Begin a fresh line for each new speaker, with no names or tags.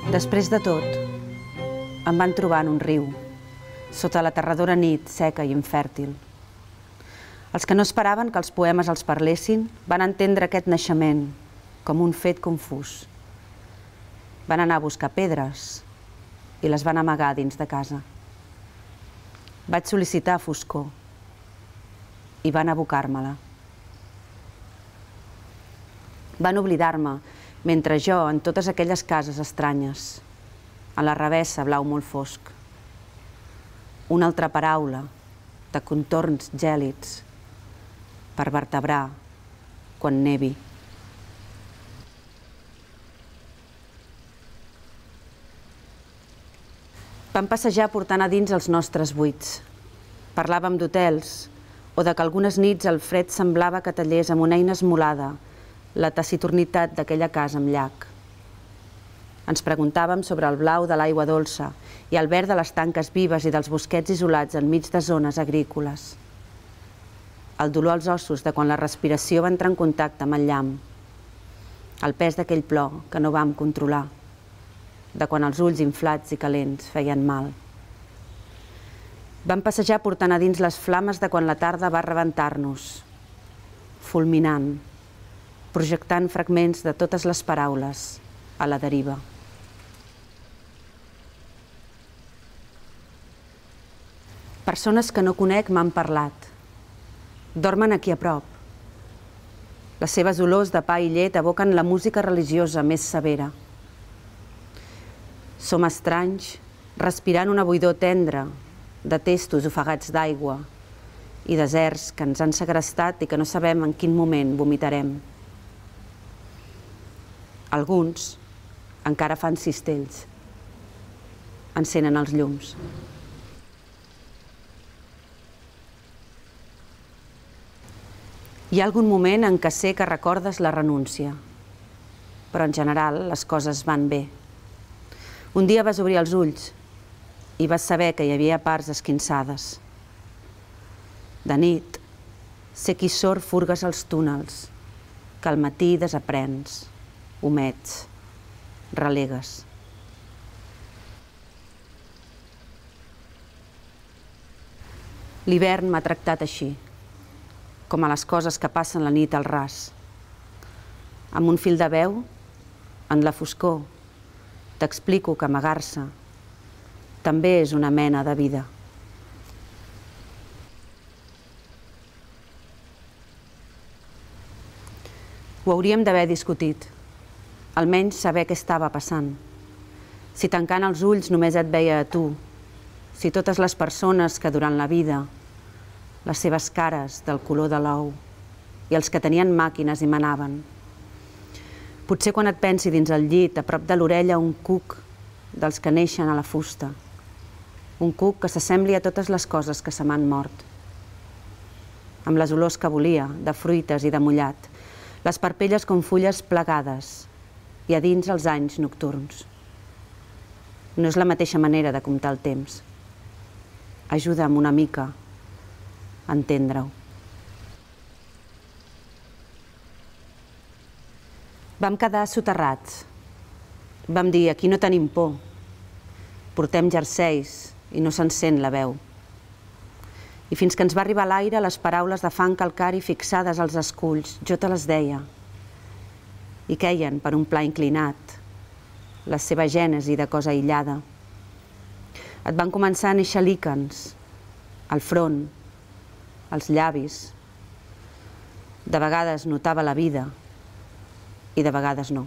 Després de tot, em van trobar en un riu, sota l'aterradora nit seca i infèrtil. Els que no esperaven que els poemes els parlessin van entendre aquest naixement com un fet confús. Van anar a buscar pedres i les van amagar dins de casa. Vaig sol·licitar foscor i van abocar-me-la. Van oblidar-me mentre jo, en totes aquelles cases estranyes, a la revessa blau molt fosc. Una altra paraula de contorns gèlids per vertebrar quan nevi. Vam passejar portant a dins els nostres buits. Parlàvem d'hotels o de que algunes nits el fred semblava que tallés amb una eina esmolada la taciturnitat d'aquella casa amb llac. Ens preguntàvem sobre el blau de l'aigua dolça i el verd de les tanques vives i dels bosquets isolats enmig de zones agrícoles. El dolor als ossos de quan la respiració va entrar en contacte amb el llamp. El pes d'aquell plor que no vam controlar. De quan els ulls inflats i calents feien mal. Vam passejar portant a dins les flames de quan la tarda va rebentar-nos, fulminant, projectant fragments de totes les paraules a la deriva. Persones que no conec m'han parlat. Dormen aquí a prop. Les seves olors de pa i llet evoquen la música religiosa més severa. Som estranys, respirant una buidor tendra de testos ofegats d'aigua i deserts que ens han segrestat i que no sabem en quin moment vomitarem. Alguns encara fan cistells. Encenen els llums. Hi ha algun moment en què sé que recordes la renúncia, però en general les coses van bé. Un dia vas obrir els ulls i vas saber que hi havia parts esquinçades. De nit, sé qui sort furgues als túnels, que al matí desaprens, omets, relegues. L'hivern m'ha tractat així, com a les coses que passen la nit al ras. Amb un fil de veu, en la foscor, t'explico que amagar-se també és una mena de vida. Ho hauríem d'haver discutit, almenys saber què estava passant. Si tancant els ulls només et veia a tu, si totes les persones que durant la vida, les seves cares del color de l'ou i els que tenien màquines hi manaven. Potser quan et pensi dins el llit, a prop de l'orella, un cuc dels que neixen a la fusta. Un cuc que s'assembli a totes les coses que se m'han mort. Amb les olors que volia, de fruites i de mullat, les parpelles com fulles plegades i a dins els anys nocturns. No és la mateixa manera de comptar el temps. Ajuda'm una mica a entendre-ho. Vam quedar soterrats. Vam dir, aquí no tenim por. Portem jerseis i no se'n sent la veu. I fins que ens va arribar a l'aire les paraules de fang calcari fixades als esculls, jo te les deia. I queien per un pla inclinat, la seva gènesi de cosa aïllada. Et van començar a néixer líquens, al front, als llavis. De vegades notava la vida i de vegades no.